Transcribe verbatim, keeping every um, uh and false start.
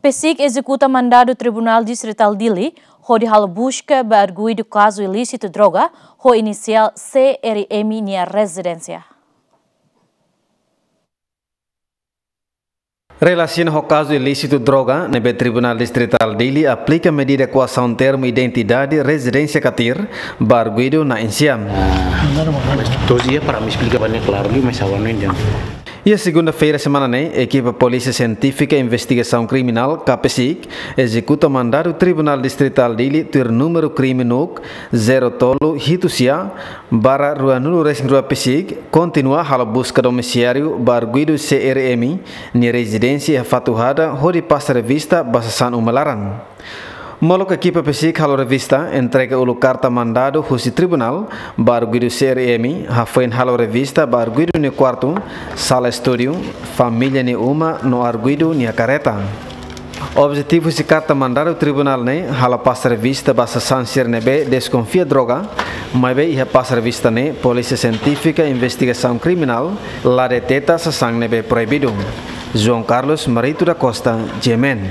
PCIC ezekuta mandadu Tribunál Distritál Dili hodi halo buska ba arguidu kazu ilísitu droga ho inisiál C R M nia rezidénsia. Relasiona ho kazu ilísitu droga ne'ebé Tribunál Distritál Dili aplika medida koasaun termu identidade, rezidénsia katir ba arguidu na insiam. Mas todos dia para me explicar bem claro, mas agora não entendo. Iha segunda-feira semana ne'e, ekipa Polísia Sientífika Investigasaun Kriminál, K P SIK, ezekuta mandadu Tribunál Distritál Dili tuir númeru krime NUC zero tolu hitu sia barra ruanulu resin rua PCIC, kontinua halo buska domisiáriu ba arguidu C R M nia rezidénsia iha Fatuhada hodi pasa revista ba sasán uma laran. Molok ekipa PCIC halo revista, entrega uluk karta mandadu husi tribunál ba arguidu C R M, hafoin halo revista ba arguidu nia kuartu, sala estúdiu, família nia uma no arguidu nia kareta. Objetivu husi karta mandadu tribunál ne'e halo pasa revista ba sasán sira ne'ebé deskonfia droga, maibé iha pasa revista ne'e Polísia Sientífika Investigasaun Kriminál la deteta sasán ne'ebé proibidu. João Carlos Marito da Costa, G M N.